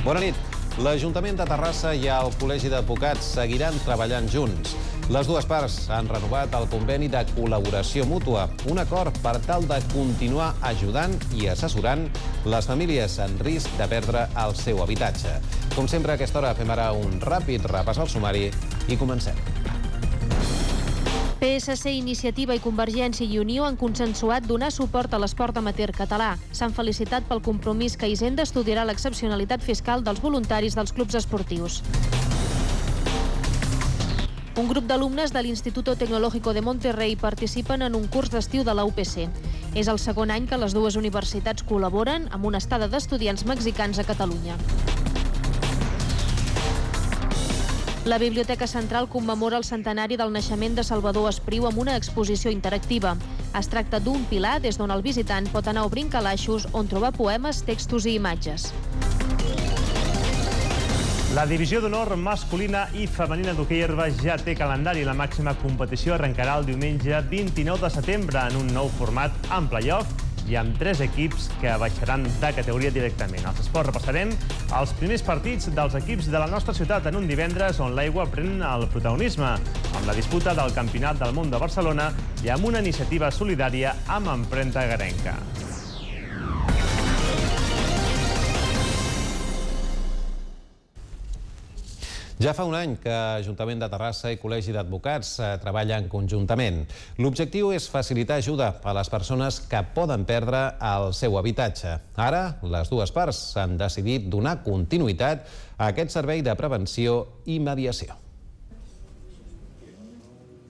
Bona nit. L'Ajuntament de Terrassa i el Col·legi d'Advocats seguiran treballant junts. Les dues parts han renovat el conveni de col·laboració mútua, un acord per tal de continuar ajudant i assessorant les famílies en risc de perdre el seu habitatge. Com sempre, a aquesta hora fem ara un ràpid repàs al sumari i comencem. PSC, Iniciativa i Convergència i Unió han consensuat donar suport a l'esport amateur català. S'han felicitat pel compromís que Hisenda estudiarà l'excepcionalitat fiscal dels voluntaris dels clubs esportius. Un grup d'alumnes de l'Instituto Tecnológico de Monterrey participen en un curs d'estiu de la UPC. És el segon any que les dues universitats col·laboren amb una estada d'estudiants mexicans a Catalunya. La Biblioteca Central commemora el centenari del naixement de Salvador Espriu amb una exposició interactiva. Es tracta d'un pilar des d'on el visitant pot anar obrint calaixos on trobar poemes, textos i imatges. La divisió d'honor masculina i femenina d'hoquei herba ja té calendari. La màxima competició arrencarà el diumenge 29 de setembre en un nou format amb play-off i amb 3 equips que baixaran de categoria directament. Als esports repassarem els primers partits dels equips de la nostra ciutat en un divendres on l'aigua pren el protagonisme, amb la disputa del Campionat del Món de Barcelona i amb una iniciativa solidària amb empremta garenca. Ja fa un any que Ajuntament de Terrassa i Col·legi d'Advocats treballen conjuntament. L'objectiu és facilitar ajuda a les persones que poden perdre el seu habitatge. Ara, les dues parts han decidit donar continuïtat a aquest servei de prevenció i mediació.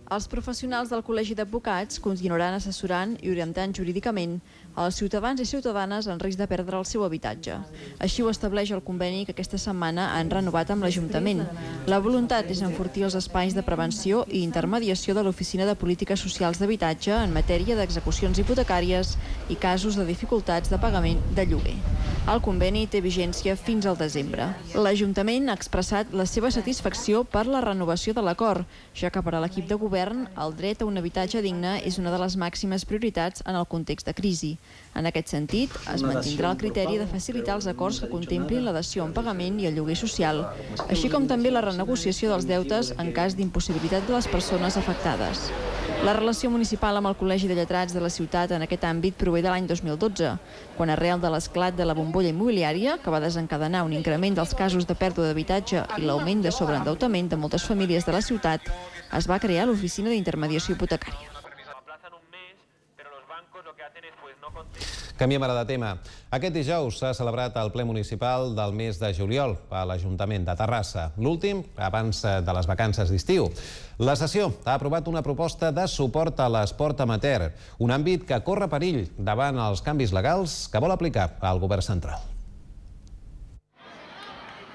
Els professionals del Col·legi d'Advocats continuaran assessorant i orientant jurídicament als ciutadans i ciutadanes en risc de perdre el seu habitatge. Així ho estableix el conveni que aquesta setmana han renovat amb l'Ajuntament. La voluntat és enfortir els espais de prevenció i intermediació de l'Oficina de Polítiques Socials d'Habitatge en matèria d'execucions hipotecàries i casos de dificultats de pagament de lloguer. El conveni té vigència fins al desembre. L'Ajuntament ha expressat la seva satisfacció per la renovació de l'acord, ja que per a l'equip de govern el dret a un habitatge digne és una de les màximes prioritats en el context de crisi. En aquest sentit, es mantindrà el criteri de facilitar els acords que contemplin la dació en pagament i el lloguer social, així com també la renegociació dels deutes en cas d'impossibilitat de les persones afectades. La relació municipal amb el Col·legi de Lletrats de la ciutat en aquest àmbit prové de l'any 2012, quan arrel de l'esclat de la bombolla immobiliària, que va desencadenar un increment dels casos de pèrdua d'habitatge i l'augment de sobreendeutament de moltes famílies de la ciutat, es va crear l'Oficina d'Intermediació Hipotecària. Canviem ara de tema. Aquest dijous s'ha celebrat el ple municipal del mes de juliol a l'Ajuntament de Terrassa, l'últim abans de les vacances d'estiu. La sessió ha aprovat una proposta de suport a l'esport amateur, un àmbit que corre perill davant els canvis legals que vol aplicar el govern central.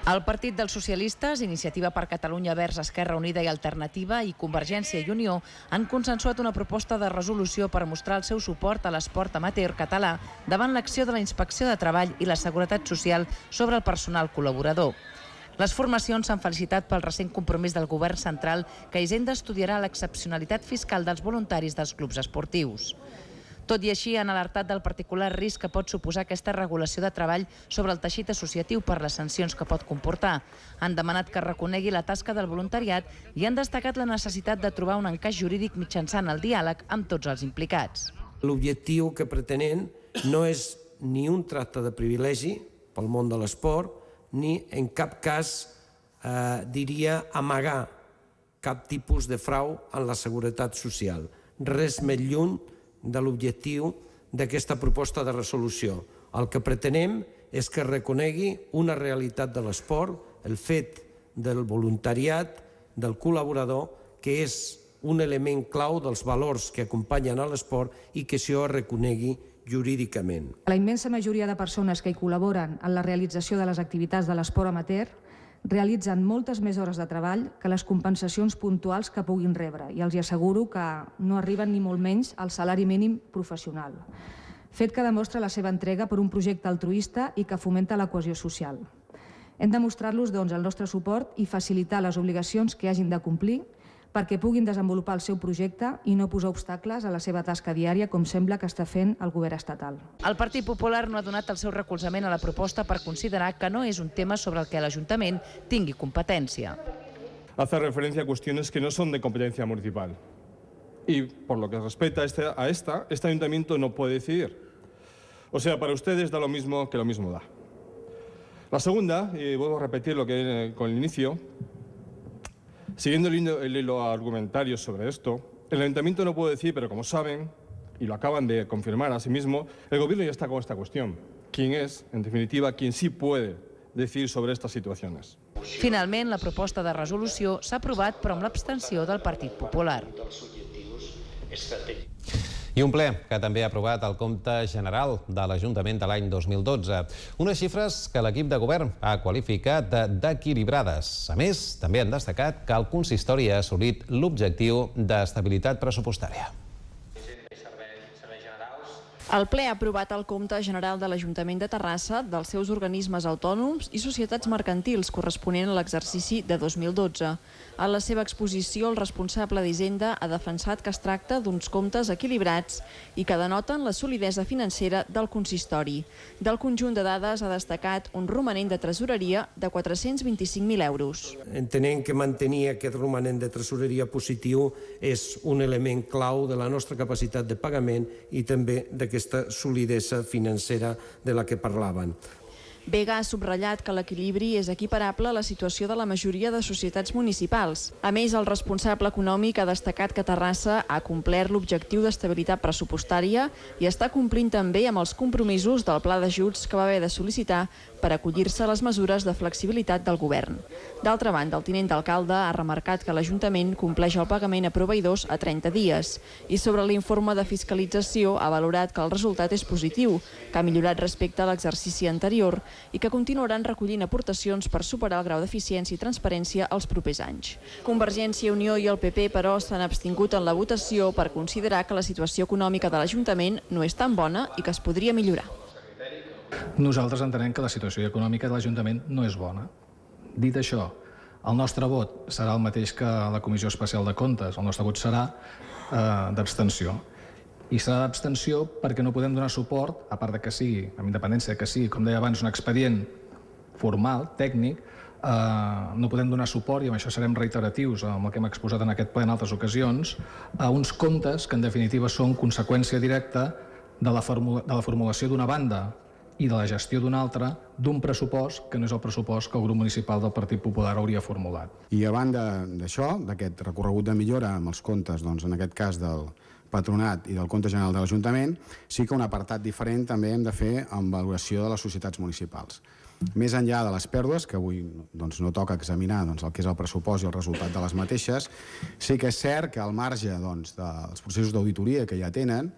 El Partit dels Socialistes, Iniciativa per Catalunya Verds, Esquerra Unida i Alternativa i Convergència i Unió han consensuat una proposta de resolució per mostrar el seu suport a l'esport amateur català davant l'acció de la Inspecció de Treball i la Seguretat Social sobre el personal col·laborador. Les formacions s'han felicitat pel recent compromís del govern central que Hisenda estudiarà l'excepcionalitat fiscal dels voluntaris dels clubs esportius. Tot i així, han alertat del particular risc que pot suposar aquesta regulació de treball sobre el teixit associatiu per les sancions que pot comportar. Han demanat que reconegui la tasca del voluntariat i han destacat la necessitat de trobar un encaix jurídic mitjançant el diàleg amb tots els implicats. L'objectiu que pretenen no és ni un tracte de privilegi pel món de l'esport, ni en cap cas, diria, amagar cap tipus de frau en la seguretat social. Res més lluny de l'objectiu d'aquesta proposta de resolució. El que pretenem és que reconegui una realitat de l'esport, el fet del voluntariat, del col·laborador, que és un element clau dels valors que acompanyen a l'esport i que això es reconegui jurídicament. La immensa majoria de persones que hi col·laboren en la realització de les activitats de l'esport amateur realitzen moltes més hores de treball que les compensacions puntuals que puguin rebre i els asseguro que no arriben ni molt menys al salari mínim professional. Fet que demostra la seva entrega per un projecte altruista i que fomenta la cohesió social. Hem de mostrar-los, doncs, el nostre suport i facilitar les obligacions que hagin de complir perquè puguin desenvolupar el seu projecte i no posar obstacles a la seva tasca diària, com sembla que està fent el govern estatal. El Partit Popular no ha donat el seu recolzament a la proposta per considerar que no és un tema sobre el que l'Ajuntament tingui competència. Hace referencia a cuestiones que no son de competencia municipal. Y por lo que respecta a este ayuntamiento no puede decidir. O sea, para ustedes da lo mismo que lo mismo da. La segunda, y vuelvo a repetir lo que con el inicio, siguiendo el hilo argumentario sobre esto, el ayuntamiento no puede decir, pero como saben, y lo acaban de confirmar a sí mismo, el gobierno ya está con esta cuestión. ¿Quién es, en definitiva, quien sí puede decidir sobre estas situaciones? Finalment, la proposta de resolució s'ha aprovat, però amb l'abstenció del Partit Popular. I un ple que també ha aprovat el compte general de l'Ajuntament de l'any 2012. Unes xifres que l'equip de govern ha qualificat d'equilibrades. A més, també han destacat que el consistori ha assolit l'objectiu d'estabilitat pressupostària. El ple ha aprovat el compte general de l'Ajuntament de Terrassa, dels seus organismes autònoms i societats mercantils corresponent a l'exercici de 2012. En la seva exposició, el responsable d'Hisenda ha defensat que es tracta d'uns comptes equilibrats i que denoten la solidesa financera del consistori. Del conjunt de dades ha destacat un romanent de tresoreria de 425.000 euros. Entenent que mantenir aquest romanent de tresoreria positiu és un element clau de la nostra capacitat de pagament i també d'aquesta solidesa financera de la que parlaven. Vega ha subratllat que l'equilibri és equiparable a la situació de la majoria de societats municipals. A més, el responsable econòmic ha destacat que Terrassa ha complert l'objectiu d'estabilitat pressupostària i està complint també amb els compromisos del pla d'ajuts que va haver de sol·licitar per acollir-se a les mesures de flexibilitat del govern. D'altra banda, el tinent d'alcalde ha remarcat que l'Ajuntament compleix el pagament a proveïdors a 30 dies i sobre l'informe de fiscalització ha valorat que el resultat és positiu, que ha millorat respecte a l'exercici anterior i que continuaran recollint aportacions per superar el grau d'eficiència i transparència els propers anys. Convergència, Unió i el PP, però, s'han abstingut en la votació per considerar que la situació econòmica de l'Ajuntament no és tan bona i que es podria millorar. Nosaltres entenem que la situació econòmica de l'Ajuntament no és bona. Dit això, el nostre vot serà el mateix que la Comissió Especial de Comptes. El nostre vot serà d'abstenció. I serà d'abstenció perquè no podem donar suport, a part de que sigui, amb independència que sigui, com deia abans, un expedient formal, tècnic, no podem donar suport, i amb això serem reiteratius amb el que hem exposat en aquest ple en altres ocasions, a uns comptes que en definitiva són conseqüència directa de la formulació d'una banda i de la gestió d'una altra, d'un pressupost que no és el pressupost que el grup municipal del Partit Popular hauria formulat. I a banda d'això, d'aquest recorregut de millora amb els comptes, doncs, en aquest cas del Patronat i del Compte General de l'Ajuntament, sí que un apartat diferent també hem de fer amb valoració de les societats municipals. Més enllà de les pèrdues, que avui no toca examinar el que és el pressupost i el resultat de les mateixes, sí que és cert que al marge dels processos d'auditoria que ja tenen,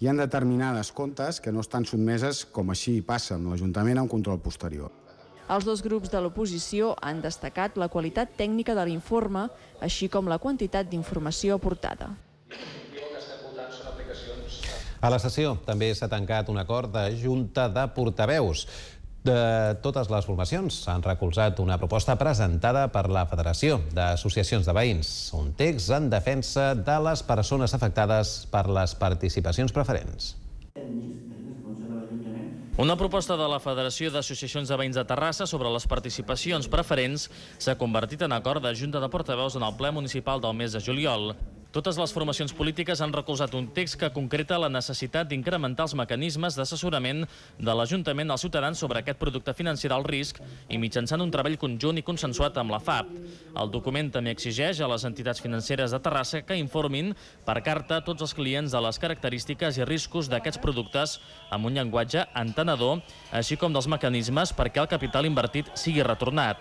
hi ha determinades comptes que no estan sotmeses, com així passa amb l'Ajuntament, a un control posterior. Els dos grups de l'oposició han destacat la qualitat tècnica de l'informe, així com la quantitat d'informació aportada. A la sessió també s'ha tancat un acord de Junta de Portaveus. De totes les formacions han recolzat una proposta presentada per la Federació d'Associacions de Veïns, un text en defensa de les persones afectades per les participacions preferents. Una proposta de la Federació d'Associacions de Veïns de Terrassa sobre les participacions preferents s'ha convertit en acord de Junta de Portaveus en el ple municipal del mes de juliol. Totes les formacions polítiques han recolzat un text que concreta la necessitat d'incrementar els mecanismes d'assessorament de l'Ajuntament als ciutadans sobre aquest producte financer del risc i mitjançant un treball conjunt i consensuat amb la FAP. El document també exigeix a les entitats financeres de Terrassa que informin per carta tots els clients de les característiques i riscos d'aquests productes amb un llenguatge entenedor, així com dels mecanismes perquè el capital invertit sigui retornat.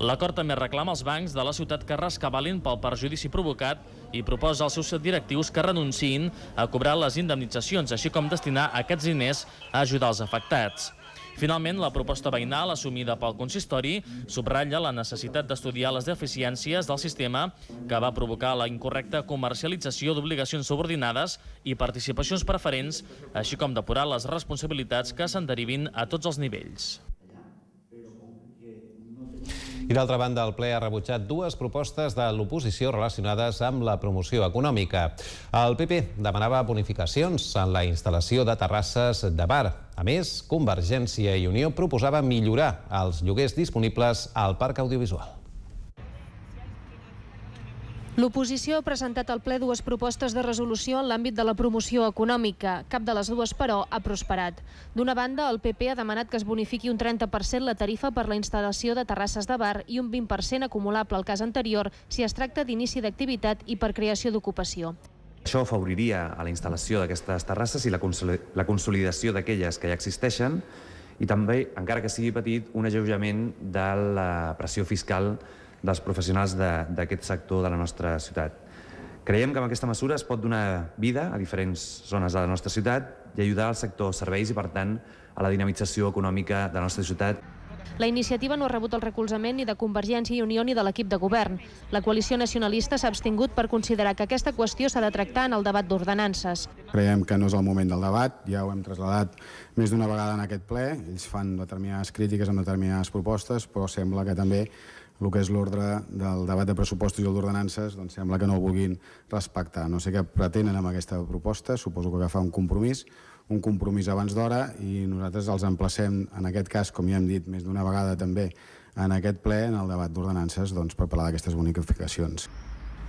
L'acord també reclama als bancs de la ciutat que rescabalin pel perjudici provocat i proposa als seus directius que renunciïn a cobrar les indemnitzacions, així com destinar aquests diners a ajudar els afectats. Finalment, la proposta veïnal assumida pel consistori subratlla la necessitat d'estudiar les deficiències del sistema que va provocar la incorrecta comercialització d'obligacions subordinades i participacions preferents, així com depurar les responsabilitats que se'n derivin a tots els nivells. I d'altra banda, el ple ha rebutjat dues propostes de l'oposició relacionades amb la promoció econòmica. El PP demanava bonificacions en la instal·lació de terrasses de bar. A més, Convergència i Unió proposava millorar els lloguers disponibles al parc audiovisual. L'oposició ha presentat al ple dues propostes de resolució en l'àmbit de la promoció econòmica. Cap de les dues, però, ha prosperat. D'una banda, el PP ha demanat que es bonifiqui un 30% la tarifa per la instal·lació de terrasses de bar i un 20% acumulable al cas anterior si es tracta d'inici d'activitat i per creació d'ocupació. Això afavoriria a la instal·lació d'aquestes terrasses i la consolidació d'aquelles que ja existeixen i també, encara que sigui petit, un alleujament de la pressió fiscal dels professionals d'aquest sector de la nostra ciutat. Creiem que amb aquesta mesura es pot donar vida a diferents zones de la nostra ciutat i ajudar al sector serveis i, per tant, a la dinamització econòmica de la nostra ciutat. La iniciativa no ha rebut el recolzament ni de Convergència i Unió ni de l'equip de govern. La coalició nacionalista s'ha abstingut per considerar que aquesta qüestió s'ha de tractar en el debat d'ordenances. Creiem que no és el moment del debat, ja ho hem traslladat més d'una vegada en aquest ple. Ells fan determinades crítiques amb determinades propostes, però sembla que també el que és l'ordre del debat de pressupostos i el d'ordenances, doncs sembla que no el vulguin respectar. No sé què pretenen amb aquesta proposta, suposo que agafar un compromís abans d'hora, i nosaltres els emplacem, en aquest cas, com ja hem dit més d'una vegada també, en aquest ple, en el debat d'ordenances, per parlar d'aquestes bonificacions.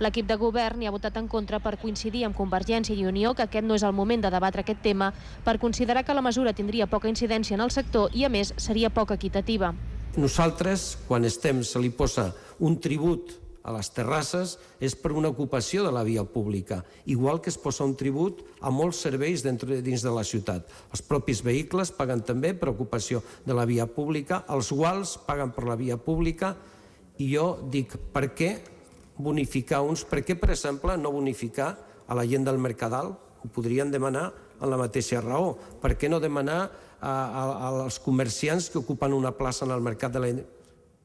L'equip de govern hi ha votat en contra per coincidir amb Convergència i Unió que aquest no és el moment de debatre aquest tema, per considerar que la mesura tindria poca incidència en el sector i, a més, seria poc equitativa. Nosaltres, quan se li posa un tribut a les terrasses, és per una ocupació de la via pública, igual que es posa un tribut a molts serveis dins de la ciutat. Els propis vehicles paguen també per ocupació de la via pública, els guals paguen per la via pública, i jo dic, per què bonificar uns? Per què, per exemple, no bonificar a la gent del Mercadal? Ho podrien demanar en la mateixa raó. Per què no demanar als comerciants que ocupen una plaça en el mercat de la...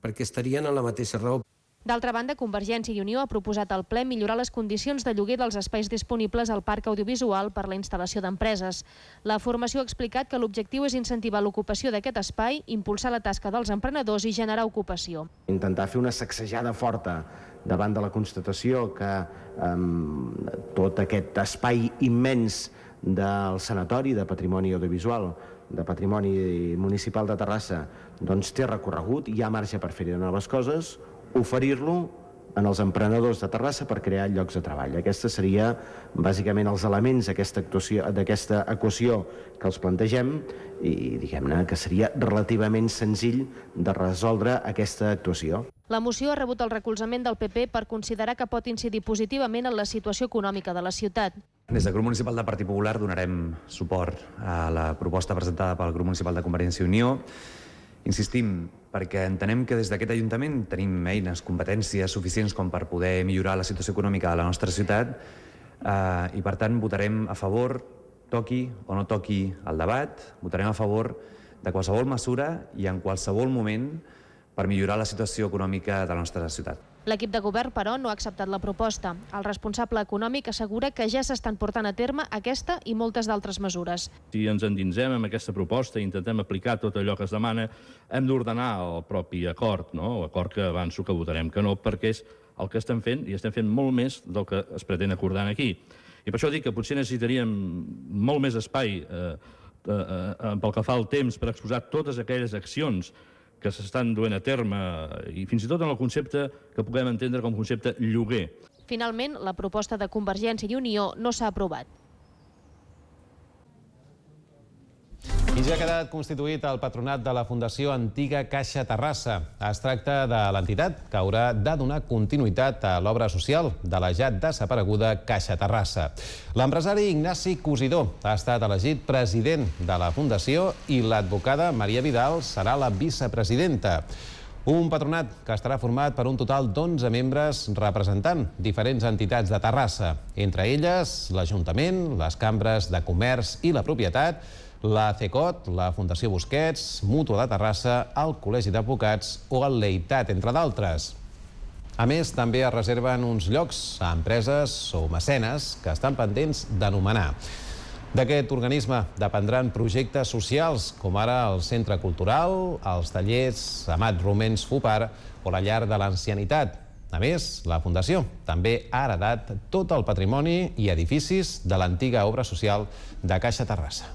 perquè estarien en la mateixa raó. D'altra banda, Convergència i Unió ha proposat al ple millorar les condicions de lloguer dels espais disponibles al parc audiovisual per la instal·lació d'empreses. La formació ha explicat que l'objectiu és incentivar l'ocupació d'aquest espai, impulsar la tasca dels emprenedors i generar ocupació. Intentar fer una sacsejada forta davant de la constatació que tot aquest espai immens del Sanatori de Patrimoni Audiovisual, de Patrimoni Municipal de Terrassa, doncs té recorregut, hi ha marge per fer-hi noves coses, oferir-lo en els emprenedors de Terrassa per crear llocs de treball. Aquests serien bàsicament els elements d'aquesta equació que els plantegem i diguem-ne que seria relativament senzill de resoldre aquesta actuació. La moció ha rebut el recolzament del PP per considerar que pot incidir positivament en la situació econòmica de la ciutat. Des del Grup Municipal del Partit Popular donarem suport a la proposta presentada pel Grup Municipal de Convergència i Unió. Insistim, perquè entenem que des d'aquest Ajuntament tenim eines, competències suficients com per poder millorar la situació econòmica de la nostra ciutat i, per tant, votarem a favor, toqui o no toqui el debat, votarem a favor de qualsevol mesura i en qualsevol moment per millorar la situació econòmica de la nostra ciutat. L'equip de govern, però, no ha acceptat la proposta. El responsable econòmic assegura que ja s'estan portant a terme aquesta i moltes d'altres mesures. Si ens endinsem amb aquesta proposta i intentem aplicar tot allò que es demana, hem d'ordenar el propi acord, l'acord que avanço que votarem que no, perquè és el que estem fent i estem fent molt més del que es pretén acordar aquí. I per això dic que potser necessitaríem molt més espai pel que fa al temps per exposar totes aquelles accions que s'estan duent a terme i fins i tot en el concepte que puguem entendre com concepte lloguer. Finalment, la proposta de Convergència i Unió no s'ha aprovat. I ja ha quedat constituït el patronat de la Fundació Antiga Caixa Terrassa. Es tracta de l'entitat que haurà de donar continuïtat a l'obra social de la ja desapareguda Caixa Terrassa. L'empresari Ignasi Cosidó ha estat elegit president de la Fundació i l'advocada Maria Vidal serà la vicepresidenta. Un patronat que estarà format per un total d'11 membres representant diferents entitats de Terrassa, entre elles l'Ajuntament, les cambres de comerç i la propietat, la CECOT, la Fundació Busquets, Mútua de Terrassa, el Col·legi d'Advocats o el Leitat, entre d'altres. A més, també es reserven uns llocs a empreses o mecenes que estan pendents d'anomenar. D'aquest organisme dependran projectes socials, com ara el Centre Cultural, els tallers Amat Romens Fupar o la Llar de l'Ancianitat. A més, la Fundació també ha heredat tot el patrimoni i edificis de l'antiga obra social de Caixa Terrassa.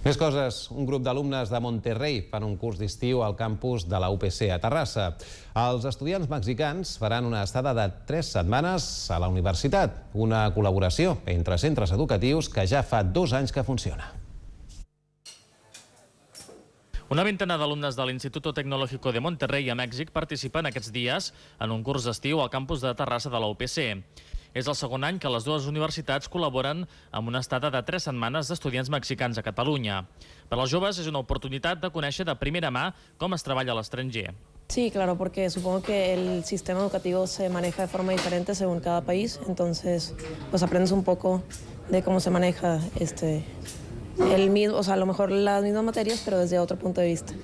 Més coses. Un grup d'alumnes de Monterrey fan un curs d'estiu al campus de la UPC a Terrassa. Els estudiants mexicans faran una estada de 3 setmanes a la universitat, una col·laboració entre centres educatius que ja fa 2 anys que funciona. Una vintena d'alumnes de l'Instituto Tecnológico de Monterrey a Mèxic participen aquests dies en un curs d'estiu al campus de Terrassa de la UPC. És el segon any que les dues universitats col·laboren amb una estada de 3 setmanes d'estudiants mexicans a Catalunya. Per als joves és una oportunitat de conèixer de primera mà com es treballa a l'estranger. Sí, claro, porque supongo que el sistema educativo se maneja de forma diferente según cada país, entonces pues aprendes un poco de cómo se maneja a lo mejor las mismas materias, pero desde otro punto de vista.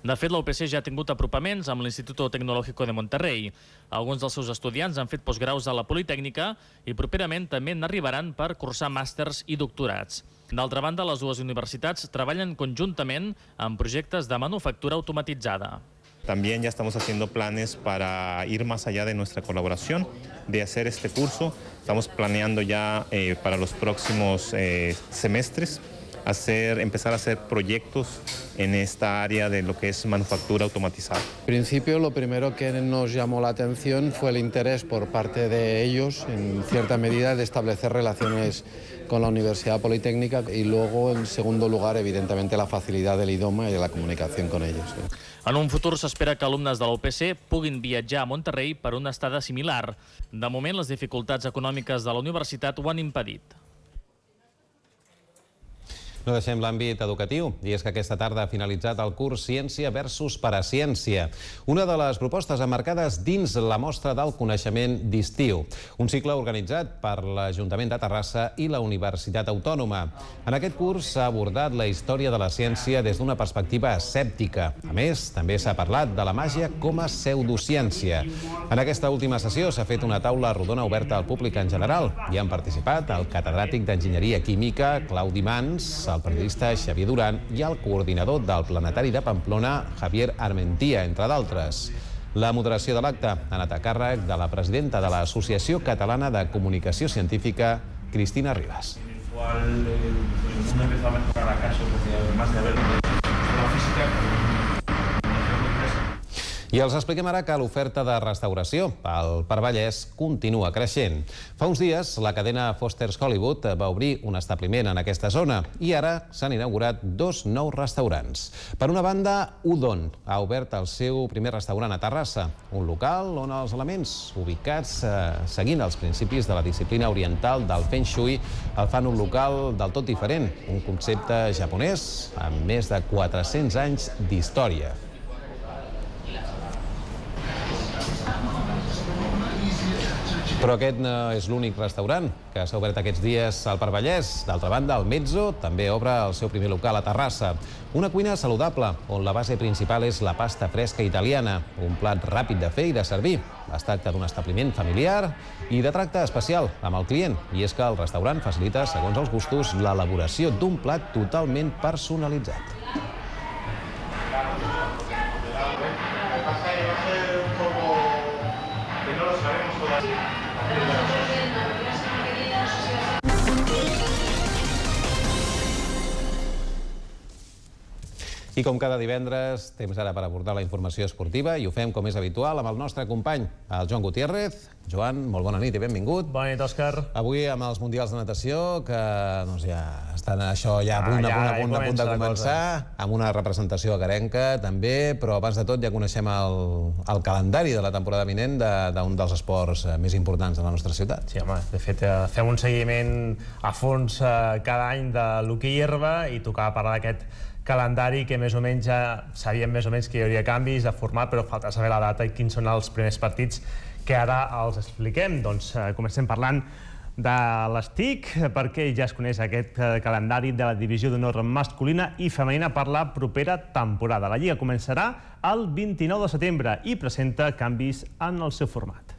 De fet, la UPC ja ha tingut apropaments amb l'Instituto Tecnológico de Monterrey. Alguns dels seus estudiants han fet postgraus a la Politècnica i properament també n'arribaran per cursar màsters i doctorats. D'altra banda, les dues universitats treballen conjuntament en projectes de manufactura automatitzada. También ya estamos haciendo planes para ir más allá de nuestra colaboración, de hacer este curso. Estamos planeando ya para los próximos semestres empezar a hacer proyectos en esta área de lo que es manufactura automatizada. En principio, lo primero que nos llamó la atención fue el interés por parte de ellos, en cierta medida, de establecer relaciones con la Universidad Politécnica y luego, en segundo lugar, evidentemente, la facilidad del idioma y la comunicación con ellos. En un futur s'espera que alumnes de la UPC puguin viatjar a Monterrey per una estada similar. De moment, les dificultats econòmiques de la universitat ho han impedit. No deixem l'àmbit educatiu, i és que aquesta tarda ha finalitzat el curs Ciència versus Paraciència, una de les propostes emmarcades dins la mostra del coneixement d'estiu, un cicle organitzat per l'Ajuntament de Terrassa i la Universitat Autònoma. En aquest curs s'ha abordat la història de la ciència des d'una perspectiva escèptica. A més, també s'ha parlat de la màgia com a pseudociència. En aquesta última sessió s'ha fet una taula rodona oberta al públic en general. Hi han participat el catedràtic d'Enginyeria Química, Claudi Mans, el periodista Xavier Duran i el coordinador del Planetari de Pamplona, Javier Armentia, entre d'altres. La moderació de l'acte ha anat a càrrec de la presidenta de l'Associació Catalana de Comunicació Científica, Cristina Ribas. El mundo empezó a mejorar acaso, porque además de haber la física, I els expliquem ara que l'oferta de restauració al Parc Vallès continua creixent. Fa uns dies, la cadena Foster's Hollywood va obrir un establiment en aquesta zona i ara s'han inaugurat 2 nous restaurants. Per una banda, Udon ha obert el seu primer restaurant a Terrassa, un local on els elements ubicats seguint els principis de la disciplina oriental del Feng Shui el fan un local del tot diferent, un concepte japonès amb més de 400 anys d'història. Però aquest no és l'únic restaurant que s'ha obert aquests dies al Parc Vallès. D'altra banda, el Mezzo també obre el seu primer local a Terrassa. Una cuina saludable, on la base principal és la pasta fresca italiana, un plat ràpid de fer i de servir. Es tracta d'un establiment familiar i de tracte especial amb el client. I és que el restaurant facilita, segons els gustos, l'elaboració d'un plat totalment personalitzat. I com cada divendres, temps ara per abordar la informació esportiva i ho fem, com és habitual, amb el nostre company, el Joan Gutiérrez. Joan, molt bona nit i benvingut. Bona nit, Òscar. Avui amb els Mundials de Natació, que ja estan això ja a punt de començar, amb una representació agarenca també, però abans de tot ja coneixem el calendari de la temporada vinent d'un dels esports més importants de la nostra ciutat. Sí, home, de fet, fem un seguiment a fons cada any de l'hoquei herba i tocava parlar d'aquest calendari que més o menys ja sabíem més o menys que hi hauria canvis de format, però falta saber la data i quins són els primers partits que ara els expliquem. Doncs comencem parlant de les TIC, perquè ja es coneix aquest calendari de la divisió d'honor masculina i femenina per la propera temporada. La Lliga començarà el 29 de setembre i presenta canvis en el seu format.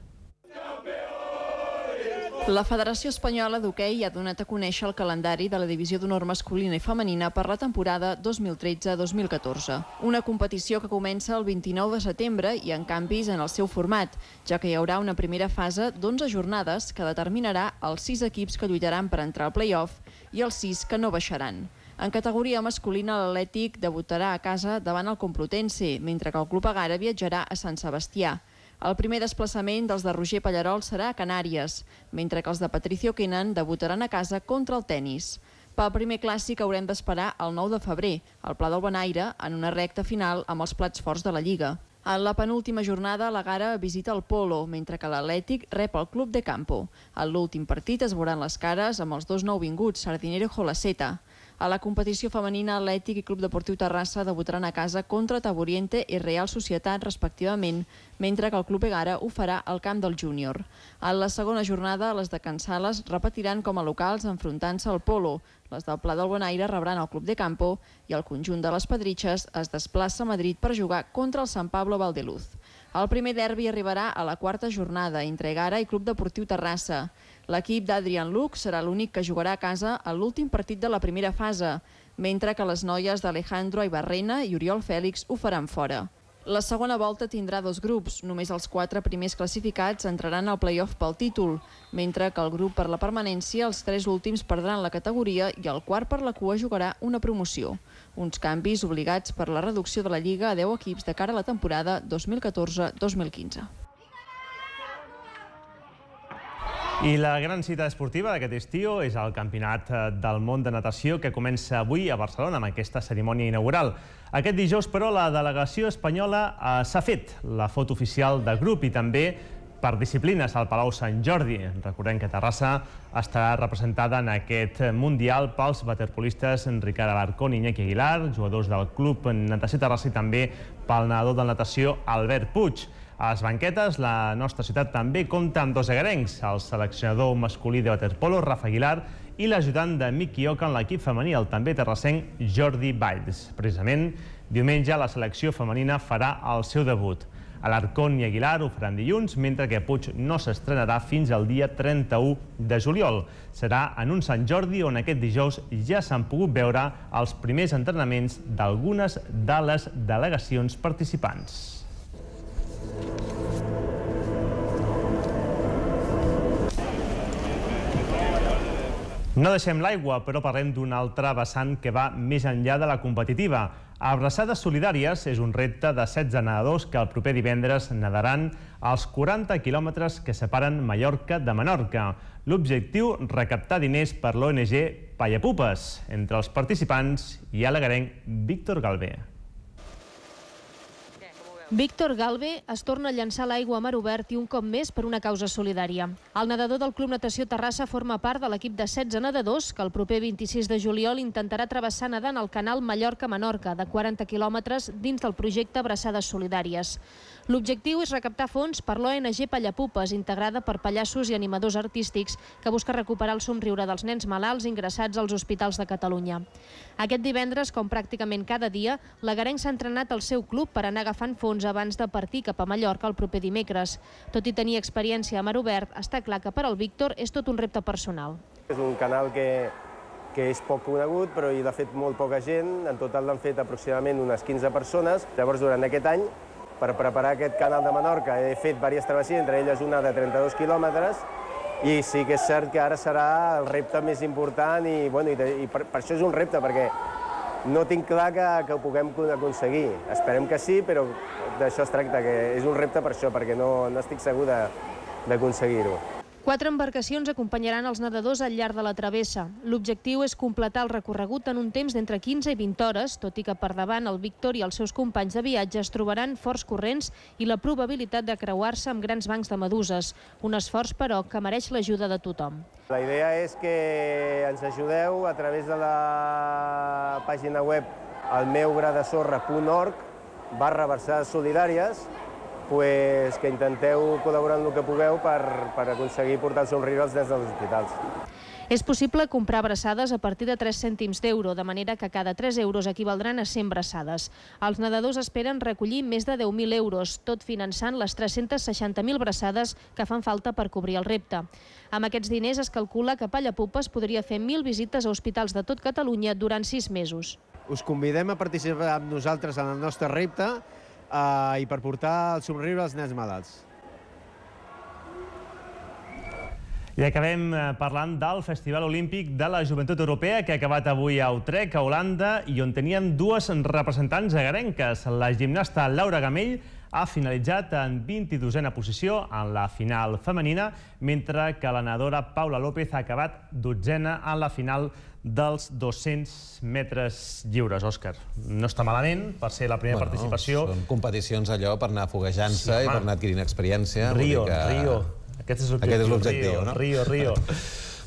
La Federació Espanyola d'Hoquei ha donat a conèixer el calendari de la divisió d'honor masculina i femenina per la temporada 2013-2014. Una competició que comença el 29 de setembre i amb canvis en el seu format, ja que hi haurà una primera fase d'11 jornades que determinarà els 6 equips que lluitaran per entrar al play-off i els 6 que no baixaran. En categoria masculina, l'Atlètic debutarà a casa davant el Complutense, mentre que el Club Egara viatjarà a Sant Sebastià. El primer desplaçament dels de Roger Pallarol serà a Canàries, mentre que els de Patricio Kenan debutaran a casa contra el tennis. Pel primer clàssic haurem d'esperar el 9 de febrer, al Pla del Bonaire, en una recta final amb els plats forts de la Lliga. En la penúltima jornada, l'Egara visita el Polo, mentre que l'Atlètic rep el Club de Campo. En l'últim partit es veuran les cares amb els dos nouvinguts, Sardinero i Jolaceta. A la competició femenina, Atlètic i Club Deportiu Terrassa debutaran a casa contra Taburiente i Real Societat, respectivament, mentre que el Club Egara ho farà al camp del Júnior. En la segona jornada, les de Can Sales repetiran com a locals enfrontant-se al Polo. Les del Pla del Bonaire rebran el Club de Campo i el conjunt de les Pedritxes es desplaça a Madrid per jugar contra el San Pablo Valdeluz. El primer derbi arribarà a la quarta jornada entre Egara i Club Deportiu Terrassa. L'equip d'Adrian Luc serà l'únic que jugarà a casa a l'últim partit de la primera fase, mentre que les noies d'Alejandro Ibarrena i Oriol Fèlix ho faran fora. La segona volta tindrà 2 grups. Només els 4 primers classificats entraran al play-off pel títol, mentre que el grup per la permanència, els 3 últims perdran la categoria i el quart per la cua jugarà una promoció. Uns canvis obligats per la reducció de la Lliga a 10 equips de cara a la temporada 2014-2015. I la gran cita esportiva d'aquest estiu és el Campionat del Món de Natació que comença avui a Barcelona amb aquesta cerimònia inaugural. Aquest dijous, però, la delegació espanyola s'ha fet la foto oficial de grup i també per disciplines al Palau Sant Jordi. Recordem que Terrassa estarà representada en aquest Mundial pels waterpolistes Ricard Alarcón i Iñaki Aguilar, jugadors del Club Natació Terrassa i també pel nedador de natació Albert Puig. A les banquetes, la nostra ciutat també compta amb 2 egarencs, el seleccionador masculí de waterpolo, Rafa Aguilar, i l'ajudant de Miki Oca en l'equip femení, el també terrassenc Jordi Valls. Precisament, diumenge la selecció femenina farà el seu debut. Alarcón i Aguilar ho faran dilluns, mentre que Puig no s'estrenarà fins al dia 31 de juliol. Serà en un Sant Jordi on aquest dijous ja s'han pogut veure els primers entrenaments d'algunes de les delegacions participants. No deixem l'aigua, però parlem d'un altre vessant que va més enllà de la competitiva. Abraçades solidàries és un repte de 16 nedadors que el proper divendres nadaran als 40 quilòmetres que separen Mallorca de Menorca. L'objectiu, recaptar diners per l'ONG Pallapupes. Entre els participants hi ha l'egarenc Víctor Galvé. Víctor Galvé es torna a llançar l'aigua a mar obert i un cop més per una causa solidària. El nedador del Club Natació Terrassa forma part de l'equip de 16 nedadors que el proper 26 de juliol intentarà travessar nedant el canal Mallorca-Menorca de 40 quilòmetres dins del projecte Abraçades Solidàries. L'objectiu és recaptar fons per l'ONG Pallapupes, integrada per pallassos i animadors artístics, que busca recuperar el somriure dels nens malalts ingressats als hospitals de Catalunya. Aquest divendres, com pràcticament cada dia, l'egarenc s'ha entrenat al seu club per anar agafant fons abans de partir cap a Mallorca el proper dimecres. Tot i tenir experiència a mar obert, està clar que per al Víctor és tot un repte personal. És un canal que és poc conegut, però hi ha fet molt poca gent. En total l'han fet aproximadament unes 15 persones. Llavors, durant aquest any, per preparar aquest canal de Menorca, he fet diverses travessies, entre elles una de 32 quilòmetres, i sí que és cert que ara serà el repte més important i per això és un repte, perquè no tinc clar que ho puguem aconseguir. Esperem que sí, però d'això es tracta, que és un repte per això, perquè no estic segur d'aconseguir-ho. 4 embarcacions acompanyaran els nedadors al llarg de la travessa. L'objectiu és completar el recorregut en un temps d'entre 15 i 20 hores, tot i que per davant el Víctor i els seus companys de viatge es trobaran forts corrents i la probabilitat de creuar-se amb grans bancs de meduses. Un esforç, però, que mereix l'ajuda de tothom. La idea és que ens ajudeu a través de la pàgina web elmeugradesorra.org/abraçades solidàries que intenteu col·laborar en el que pugueu per aconseguir portar el somriure als nens dels hospitals. És possible comprar abraçades a partir de 3 cèntims d'euro, de manera que cada 3 euros equivaldran a 100 abraçades. Els nedadors esperen recollir més de 10.000 euros, tot finançant les 360.000 abraçades que fan falta per cobrir el repte. Amb aquests diners es calcula que Pallapupes podria fer 1.000 visites a hospitals de tot Catalunya durant 6 mesos. Us convidem a participar amb nosaltres en el nostre repte i per portar el somriure als nens malalts. I acabem parlant del Festival Olímpic de la Joventut Europea, que ha acabat avui a Utrecht, a Holanda, i on tenien dues representants agarenques. La gimnasta Laura Gamell ha finalitzat en 22a posició en la final femenina, mentre que la nedadora Paula López ha acabat 12a en la final dels 200 metres lliures. Òscar, no està malament per ser la primera participació. Són competicions allò per anar foguejant-se i per anar adquirint experiència. Rio. Aquest és l'objectiu, no? Rio.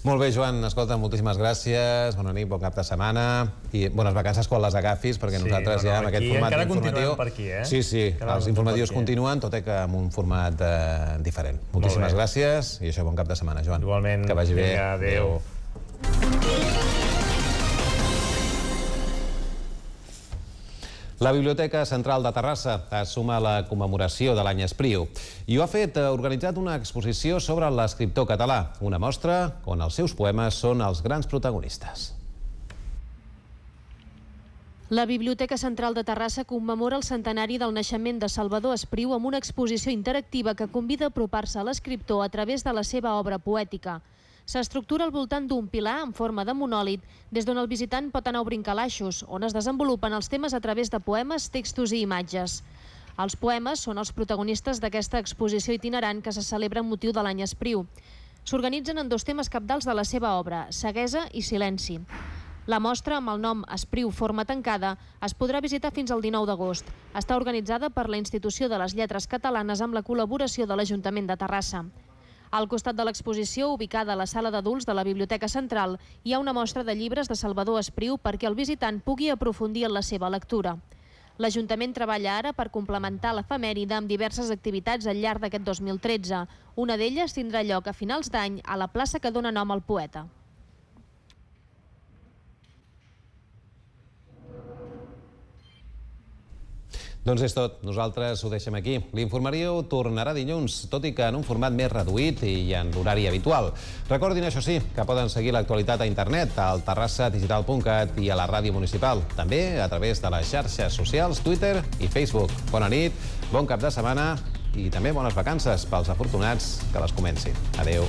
Molt bé, Joan, escolta, moltíssimes gràcies, bona nit, bon cap de setmana i bones vacances quan les agafis, perquè nosaltres ja amb aquest format informatiu... Encara continuem per aquí, eh? Sí, els informatius continuen, tot i que amb un format diferent. Moltíssimes gràcies i això, bon cap de setmana, Joan. Igualment. Que vagi bé. Adéu. La Biblioteca Central de Terrassa es suma a la commemoració de l'any Espriu i ho ha fet organitzant una exposició sobre l'escriptor català, una mostra on els seus poemes són els grans protagonistes. La Biblioteca Central de Terrassa commemora el centenari del naixement de Salvador Espriu amb una exposició interactiva que convida a apropar-se a l'escriptor a través de la seva obra poètica. S'estructura al voltant d'un pilar en forma de monòlit, des d'on el visitant pot anar obrint calaixos, on es desenvolupen els temes a través de poemes, textos i imatges. Els poemes són els protagonistes d'aquesta exposició itinerant que se celebra amb motiu de l'any Espriu. S'organitzen en 2 temes cabdals de la seva obra, ceguesa i silenci. La mostra, amb el nom Espriu Forma Tancada, es podrà visitar fins al 19 d'agost. Està organitzada per la Institució de les Lletres Catalanes amb la col·laboració de l'Ajuntament de Terrassa. Al costat de l'exposició, ubicada a la sala d'adults de la Biblioteca Central, hi ha una mostra de llibres de Salvador Espriu perquè el visitant pugui aprofundir en la seva lectura. L'Ajuntament treballa ara per complementar l'efemèride amb diverses activitats al llarg d'aquest 2013. Una d'elles tindrà lloc a finals d'any a la plaça que dona nom al poeta. Doncs és tot. Nosaltres ho deixem aquí. L'informatiu tornarà dilluns, tot i que en un format més reduït i en l'horari habitual. Recordin, això sí, que poden seguir l'actualitat a internet, al terrassadigital.cat i a la ràdio municipal. També a través de les xarxes socials, Twitter i Facebook. Bona nit, bon cap de setmana i també bones vacances pels afortunats que les comencin. Adéu.